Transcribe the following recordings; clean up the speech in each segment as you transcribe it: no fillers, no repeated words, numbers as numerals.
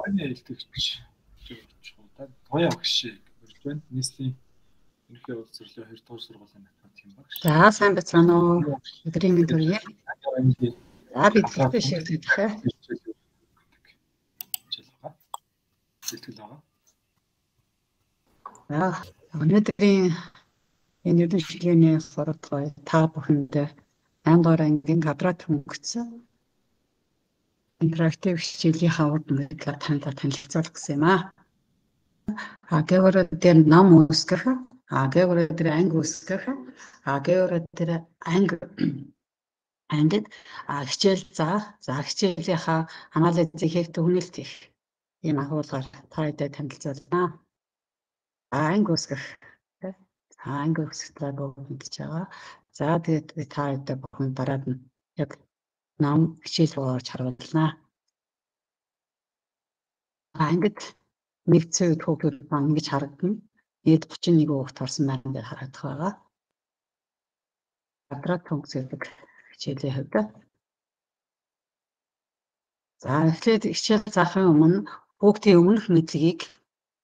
Орны хэлтгч Тоя багш ирж байна. Нийслэлийн ерөнхий улс төрлөө 2 дугаар сургуулийн математикийн багш. За сайн байна уу? Өдрийн мэнд хүргэе. За бид хэлтэй шилжүүлэх. Сэтгэл байгаа. Өнөөдрийн энэ ерөнхий шилгээний сургууль та бүхэнд 8 дугаар ангийн квадрат хөнгөцсөн интерактив хичээлийн хавар мэдлэг танилцуулах гэсэн юм аа. Гэвэр дээр ном үүсгэх, гэвэр дээр анги үүсгэх, гэвэр дээр ангид хичээл заах, хичээлийнхаа анализыг хийх түгнэлт их ийм агуулгаар та хэдэд танилцуулнаа. Анги үүсгэх, анги үүсгэх бүгд байгаа. За тэгээд та хэдэд бүхэн дараад нь яг ном хичээл боорч харуулнаа. Ангид нэгдсэн үед хүүхдүүд маань ингэж харагдана. Нийт 31 хүүхэд орсон байна гэж харагдах байгаа. Квадрат функц гэдэг хичээлийн хувьд. За эхлээд хичээл заахын өмнө хүүхдийн өмнөх мэдлэгийг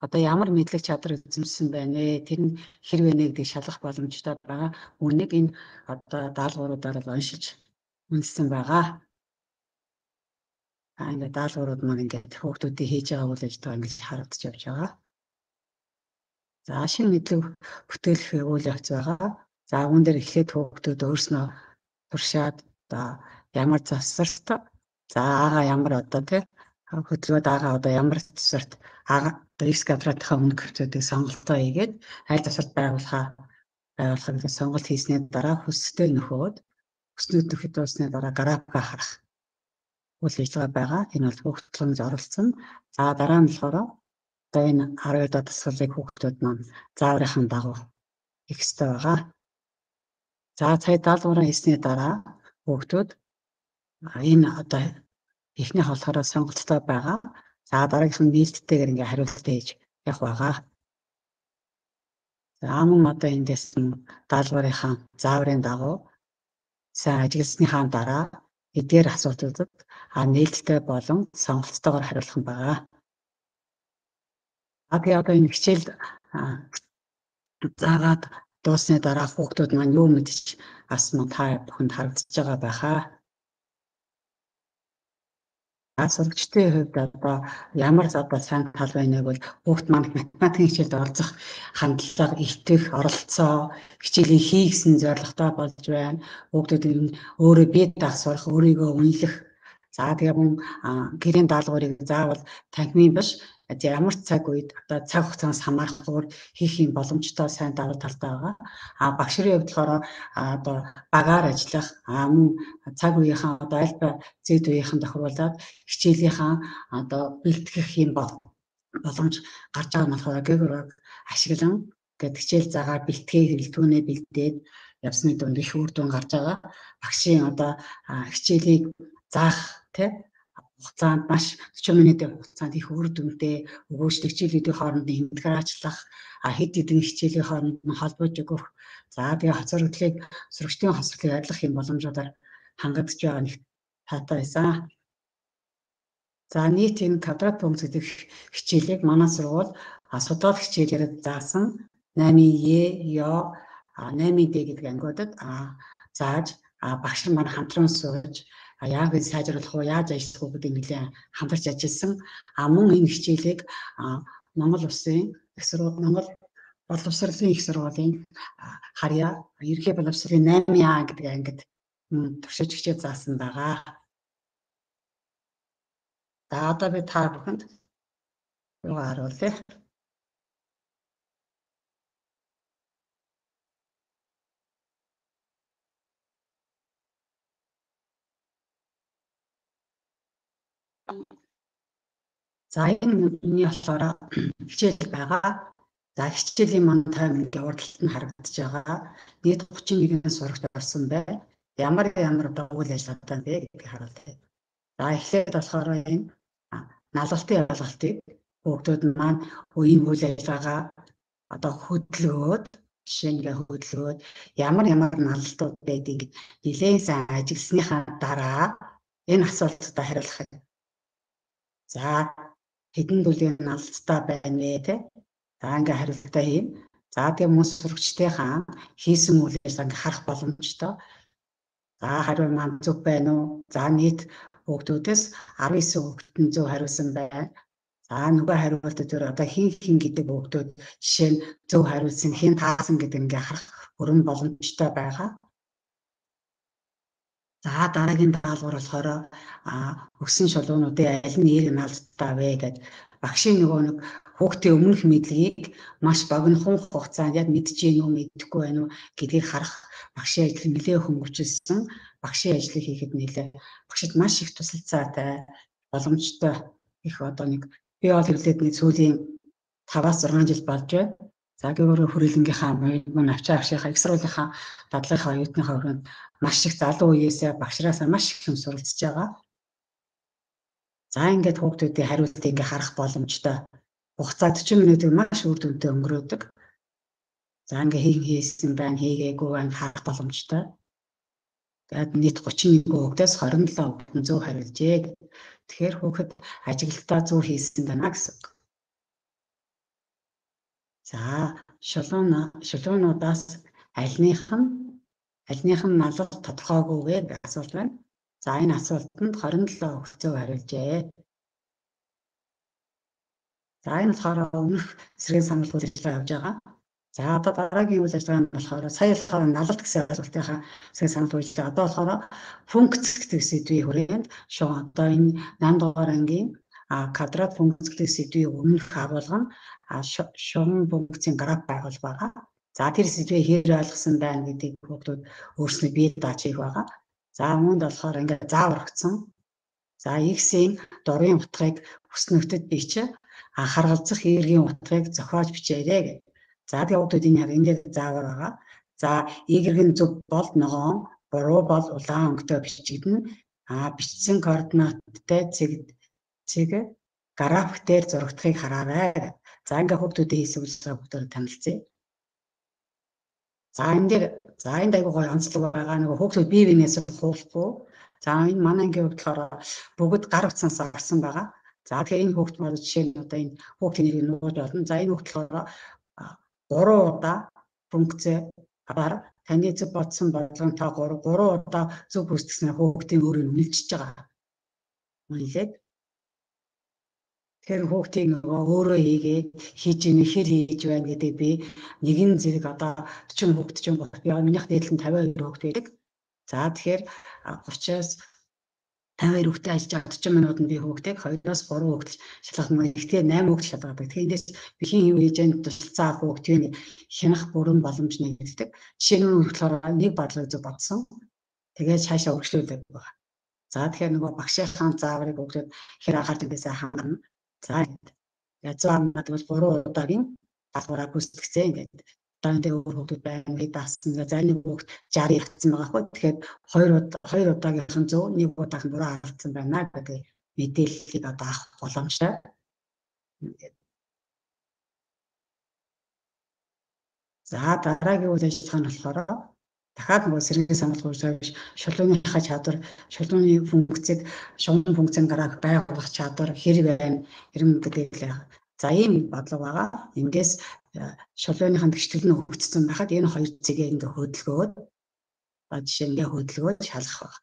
одоо ямар мэдлэг чадвар эзэмшсэн байна вэ? Тэр нь хэрвээ нэгдийг шалгах боломжтой байгаа. Үүнийг энэ одоо даалгавруудаар уншиж үнэлсэн байгаа. Ингээд даалгаврууд маань ингээд хүүхдүүдийн хийж байгаа үйл ажиллагаа ингэж харагдаж явж байгаа. За шинэ мэдлэг бүтээлэх үйл явц байгаа. За үүн дээр эхлээд хүүхдүүд өөрснөө туршаад одоо ямар засварт за аага ямар одоо тий хөдөлгөөд аага одоо ямар засварт аага X квадратынхаа өмнөх хэмжээдэг сонголтоо хийгээд аль засварт байгуулахыг сонголт хийсний дараа хүстэй нөхөөд хүснүүд нөхөд дуусны дараа графика харах үйл ажиллагаа байгаа. Энэ бол хүүхдүүд оролцсон. За дараа нь болохоор одоо энэ 12 дахь дасгалыг хүүхдүүд маань зааврынхан дагуу хийх ёстой байгаа. За цай даалгавраа хийсний дараа хүүхдүүд энэ одоо эхнийх болохоор сонголттой байгаа. За дараагийнх нь нээлттэйгээр ингээ хариулт хийж явах байгаа. За мөн одоо эндээс нь даалгаврынхаа зааврын дагуу сайн ажилласныхаа дараа эдгээр асуудлуудад нээлттэй болон сонголттойгоор хариулах нь байгаа. Тэгээ одоо энэ хичээл заагаад дуусны дараа хүүхдүүд маань юу мэдчих асуух та бүхэнд харагдаж байгаа байхаа. Сурагчдын хувьд одоо ямар одоо сайн тал байна вэ? Хүүхд маань математикийн хичээлд оролцох хандлага, итгэх, оролцоо, хичээлийн хийгсэн зорилготой болж байна. Хүүхдүүд өөрөө бие даах, өөрийгөө үнэлэх. За тэгээ мөн гэрийн даалгаврыг заавал танхимын биш ямар цаг үед одоо цаг хугацаанаас хамаарахгүйгээр хийх юм боломжтой сайн давуу талтай байгаа. Багш нарын хувьд болохоор одоо багаар ажиллах, мөн цаг үеийнхаа одоо аль зэд үеийнхэн тохируулаад хичээлийнхаа одоо бэлтгэх юм боломж гарч байгаа нь болохоор гэгэр ашиглан гэдэг хичээл заагаар бэлтгээ хэрэглэтгүүнээ бэлдээд явсны дунд их үр дүн гарч байгаа. Багшийн одоо хичээлийг заах тий хугацаанд маш 40 минутын хугацаанд их үр дүнтэй өгөөжлөг хичээлүүдийн хоорондын интеграчлах, хэд хэдэн хичээлийн хооронд нь холбож өгөх. За тэгээ хоцрогдлыг сурагчдын хоцрогдлыг арилгах юм боломжуудаар хангагдж байгаа нэг таатай байсан. За нийт энэ квадрат функц гэдэг хичээлийг манай сургууль судлаад хичээлээр заасан 8E, ё, 8D гэдэг ангиудад зааж багш нар маань хамтран сууж яг энэ сайжруулах уу, яаж ажиллах уу гэдэг нэлээд хамтарч ажилласан. Мөн энэ хичээлийг Монгол Улсын их сургууль, Монгол боловсролын их сургуулийн харьяа ерхий боловсролын 8А гэдэг ангид туршиж хичээл заасан байгаа. За одоо би та бүхэнд юу харуулъя. За энэ болохоор хичээл байгаа. За хичээлийн маань тайминг урдталт нь харагдаж байгаа. Нийт 31 сурагч орсон байна. Ямар үйл ажиллагаатай бэ гэдгийг харуулъя. За эхлээд болохоор энэ налалтын ялгалтыг хүүхдүүд маань энэ үйл ажиллагаа одоо хөдөлгөөд жишээнгээ хөдөлгөөд ямар налалтууд байдгийг нэлээд сайн ажилласныхаа дараа энэ асуултад хариулах. За хэдэн бүлгийн алцтай байна вэ те. За ингээ хариултаа хийн. За тэгээ мөн сурагчдынхаа хийсэн үйлээс ингээ харах боломжтой. За хариу маань зөв байна уу? За нийт хүүхдүүдээс 19 хүүхэд зөв хариулсан байна. За нөгөө хариултууд дээр одоо хин гэдэг хүүхдүүд жишээ нь зөв хариулсан хин таасан гэдэг ингээ харах бүрэн боломжтой байгаа. За дараагийн даалгавар болохоор өгсөн шалгуунуудын аль нь эерэг наалдтай вэ гэдэг багшийн нөгөө нэг хүүхдийн өмнөх мэдлэгийг маш богинохон хугацаанд яг мэдчихээн үү мэдэхгүй байна уу гэдгийг харах багшийн ажлыг нэлээд хөнгөвчлсөн. Багшийн ажлыг хийхэд нэлээд багшид маш их тусалцаатай боломжтой их одоо нэг би бол хэвлээд нэг сүүлийн 5-6 жил болж байна. За гэвэр хүрээлэнгийнхаа мөн авчаа авшийнхаа их сургуулийнхаа дадлынхаа оюутныхаа өрөөнд маш их залуу үеэсээ багшраасаа маш их юм суралцж байгаа. За ингээд хүүхдүүдийн хариултыг ингээ харах боломжтой. Хугацаа 40 минутыг маш үр дүнтэй өнгөрөөдөг. За ингээ хийсэн байна, хийгээгүй байна харах боломжтой. Тэгээд нийт 31 хүүхдээс 27 хүүхэд нь зөв хариулжээ. Тэгэхээр хүүхэд ажиглалтаа зөв хийсэн байна гэсэн үг. За шалгуунуудаас альных нь налалт тодорхойгүй гэх асуулт байна. За энэ асуултанд 27 хүүхэд зөв хариулжээ. За энэ болохоор өмнөх эсрэг санал үйл ажиллагаа явж байгаа. За одоо дараагийн үйл ажиллагаа нь болохоор сая болохоор налалт гэсэн асуултынхаа эсрэг санал үйл ажиллагаа. Одоо болохоор функц гэдэг сэдвийн хүрээнд одоо энэ 8 дугаар ангийн квадрат функц гэдэг сэдвийн өмнөх агуулга нь шугам функцийн граф байгуулга байгаа. За тэр сэдвээ хэр ойлгосон байна гэдгийг хүүхдүүд өөрснөө бие дааж хийх байгаа. За үүнд болохоор ингээд заавар өгсөн. За x-ийн дурын утгыг хүснэгтэд бичээ харгалзах эргийн утгыг зохиож бичээрэй гэх. За тэгээ хүүхдүүд энэ яг ингээд заавар байгаа. За y-ийн зөв бол ногоон, буруу бол улаан өнгөтэй бичигдэнэ. Бичсэн координаттай цэг график дээр зурагдахыг хараарай. За ингээд хүүхдүүдийн хийсэн үйлчлэгээ бүгдээр танилцъя. За энэ айгуу гоё онцлог байгаа. Нөгөө хүүхдүүд бие биенээс хуулахгүй. За энэ манай ангийн хувьд болохоор бүгд гар утсанаас орсон байгаа. За тэгэхээр энэ хүүхд маань жишээ нь одоо энэ хүүхдийн нэрийг нууж болно. За энэ хүүхд болохоор 3 удаа функцээр таны зөв бодсон бодлогонтой 3 удаа зөв бүртгэснээр хүүхдийн өөрийг үнэлж байгаа. Үнэлээд тэр хүүхдийн өөрөө хийгээд хийж ийнэ хэр хийж байна гэдэг би нэгэн зэрэг одоо 40 хүүхэд ч юм бол би минийх дээдлэн 52 хүүхэд байдаг. За тэгэхээр 30-аас 52 хүүхдээ ажиллаж 40 минутанд би хүүхдийг 2-оос 3 хүүхэд шалгах мөн ихтэй 8 хүүхэд шалгадаг. Тэгэхээр эндээс би хин юу хийж яанд тусалцаа хүүхдийн хянах бүрэн боломж нэгддэг. Жишээ нь болохоор нэг бодлого зөв бодсон. Тэгээд цаашаа өргөжлүүлдэг байна. За тэгэхээр нөгөө багшийнхаа зааврыг өгөөд хэр анхаарч байгаасаа хангана. За язгаарнаад бол 3 удаагийн даалгавраа гүйцэтгэсэн ингээд даантай өөр хүүхдүүд байна гэж даасан. Зарим хүүхд 60 явцсан байгаа хөө. Тэгэхээр 2 удаагийнхан зөв, 1 удаагийн буруу алдсан байна гэдэг мэдээллийг одоо авах боломжтой. За дараагийн үйл ажиллагаа нь болохоор дахиад нөгөө сэргийн санал хуульсавч шалгууныхаа чадвар, шалгууны функцийг шугам функцийн график байгуулах чадвар хэр байна, хэрэг гэдэг. За ийм бодлого байгаа. Эндээс шалгууныхаа тэгшлэл нь өгөгдсөн байхад энэ хоёр зэгээ ингээ хөдөлгөөд жишээ ингээ хөдөлгөөд шалгах баг.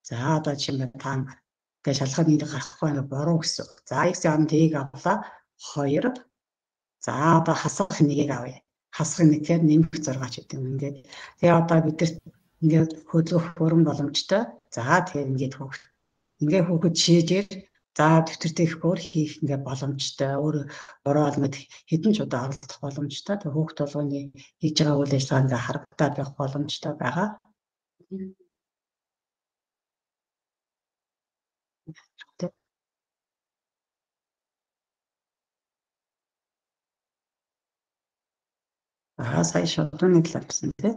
За одоо жишээ нь та ингээ шалгахад нэг гарахгүй ингээ буруу гэсэн. За x-ийн t-ийг авлаа 2. За одоо хасах нэгийг авъя. Хасах нэг гэхээр нэмэх 6 ч гэдэг юм ингээд. Тэгээ одоо бид ингээд хөдөлгөх бүрэн боломжтой. За тэгэхээр ингээд хүүхэд шийдээр за дэвтэртэйх бүр хийх ингээд боломжтой. Өөр олмод хэдэн ч удаа оролцох боломжтой. Тэгээ хүүхэд болгоны хийж байгаа үйл ажиллагаа ингээд харагдаад байх боломжтой байгаа. Сая шалгууны талаар гэсэн тийм.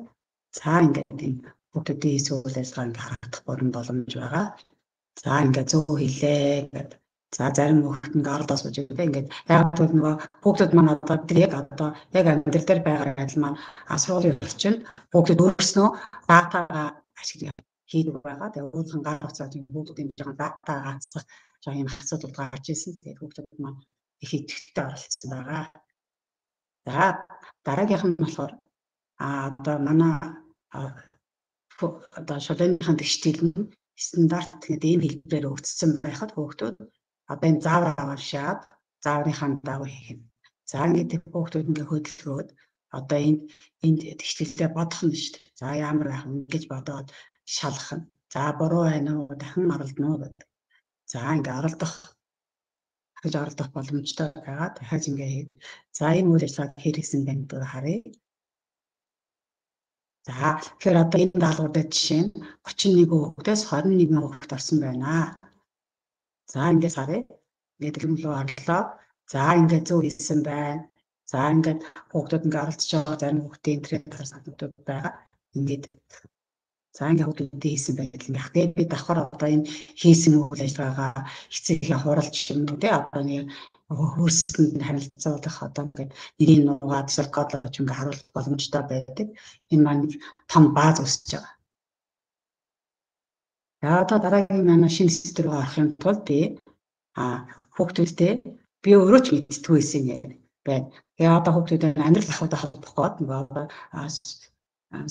За ингээд энэ хүүхдүүдийн хийсэн үйл ажиллагааг харагдах бүрэн боломж байгаа. За ингээд зөв хэлээ гэдэг. За зарим хүүхэд ингээд оролдоос үгүй ингээд яг нөгөө хүүхдүүд маань одоо яг амьдрал дээр байгаа адил маань сургуулийн орчинд хүүхдүүд өөрснөө датагаа ашиглаж хийдэг байгаа. Тэгээ өөрхөн гар утсаад хүүхдүүд ингэж байгаа датагаа хасах жоо юм асуудал гарч ирсэн. Тэгээд хүүхдүүд маань их идэвхтэй оролцсон байгаа. За дараагийнх нь болохоор одоо манай одоо шулууныхын тэгштэл нь стандарт гэдэг ийм хэлбэрээр өгцсөн байхад хүүхдүүд одоо энэ заавар аваашаад зааврынхаа дагуу хийх юм. За ингээд хүүхдүүд ингээ хөдөлгөөд одоо энд тэгштэлээ бодох нь шүү дээ. За ямар байх вэ гэж бодоод шалгах нь. За буруу байна уу, дахин оролдоно уу гэдэг. За ингээ оролдох боломжтой байгаа. Дахиад ингээ за энэ үйл ажиллагааг хэрэгсэн байна гэдэг харъя. За тэгэхээр одоо энэ даалгаврын жишээ нь 31 хүүхдээс 21 хүүхэд орсон байна. За ингээс харъя. Ингээд дэлгэмлүү орлоо. За ингээд зөв хийсэн байна. За ингээд хүүхдүүд ингээд оролцож байгаа зарим хүүхдийн интернет саналууд байгаа. Ингээд за ингээд хүүхдүүд хийсэн байдал ингээд. Тэгээд би давхар одоо энэ хийсэн үйл ажиллагаагаа эцэгийнхээ хуралч юм уу те одоо нэг хөөсөнд нь харилцуулах одоо ингээд нэрийн нугаад сэркодлож ингээд харуулах боломжтой байдаг. Энэ маань том бааз үүсэж байгаа. За одоо дараагийн манай шинэ систем рүү орохын тулд би хүүхдүүдтэй би өөрөө ч мэдтгүй байсан юм байна. Тэгээ одоо хүүхдүүдээ амьдрал ахуйтай холбох гээд нөгөө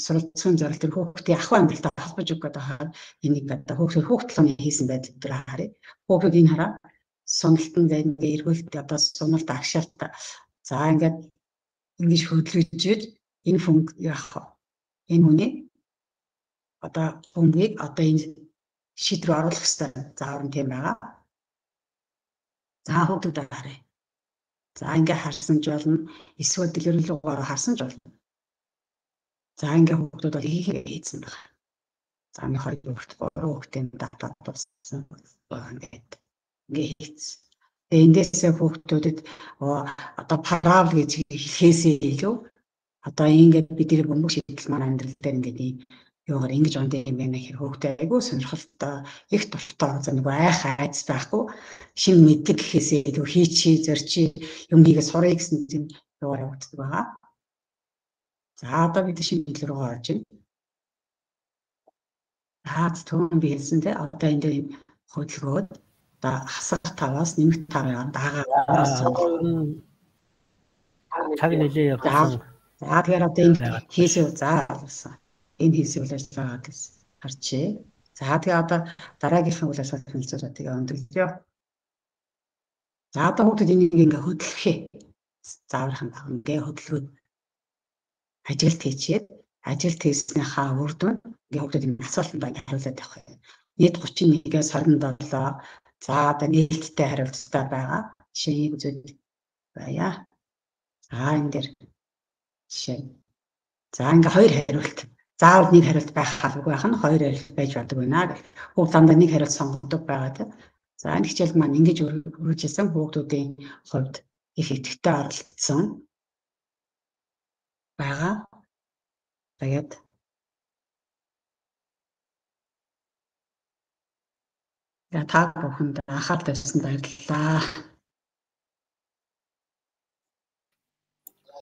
суралцсан зорилт төр хүүхдийн ахуй амьдралтай холбож өгөх гэдэг хаа энийг одоо хүүхдийн хийсэн байдал дээр харъя. Хүүхдүүд энэ хараа сонголтон ингээ эргүүлэлт одоо суналт агшаалт за ингээд ингэж хөдөлгөж энэ функц яах энэ хүний одоо функцийг одоо энэ шийдвэр оруулах хэрэгтэй заавар нь тийм байгаа. За хүүхдүүд харъя. За ингээ харсан ч болно эсвэл дэлгэрүүлгээр харсан ч болно. За ингээ хүүхдүүд бол хийсэн байгаа. За нэг хоёр хүүхд гурван хүүхдийн давтаад болсон байгаа ингээд хийсэн. Эндээсээ хүүхдүүдэд одоо парабол гэж хэлхээсээ илүү одоо ингээд бидний бөмбөг шийдэл маань амьдрал дээр ингээд юугаар ингэж онд юм байна гэхээр хүүхдээ айгүй сонирхолтой их дуртай за нэг айх айц байхгүй шин мэдлэг гэхээсээ илүү хийчи зорчи юм хийгээ сурах гэсэн юм юугаар явагддаг байгаа. За одоо бид шинэ мэдлэг рүү орж байна. Түүн би хэлсэн те одоо энэ дээр хөдөлгөөд одоо хасах таваас нэмэх таваар дагаа цаг нэлээ явсан. За тэгэхээр одоо энэ хийсээ заасан. Энэ хийсээ үйл ажиллагаа гэж харчээ. За тэгээ одоо дараагийнхын үйл ажиллагааг хэлцүүлээ тэгээ өндөрлөө. За одоо хүүхдүүд энийг ингээ хөдөлгөхээ. Заавархан баг ингээ хөдөлгөөд ажилт хийчихэд ажилт хийснийхаа үр дүн ингээ хүүхдүүд энэ асуултанд ингээ хариулаад явах юм. Нийт 31-ээс 27 за одоо нийтдээ хариулттай байгаа. Жишээ үзээд байя. За энэ дэр жишээ. За ингээ хоёр хариулт. Заавал нэг хариулт байх халуугүй байх нь хоёр хариулт байж болдог байна гэх. Хүүхд дандаа нэг хариулт сонгодог байгаа. За энэ хичээл маань ингэж өргөжүүлсэн хүүхдүүдийн хувьд их идэвхтэй оролцсон байгаа. Тэгээд та бүхэнд анхаарал тавьсан баярлалаа.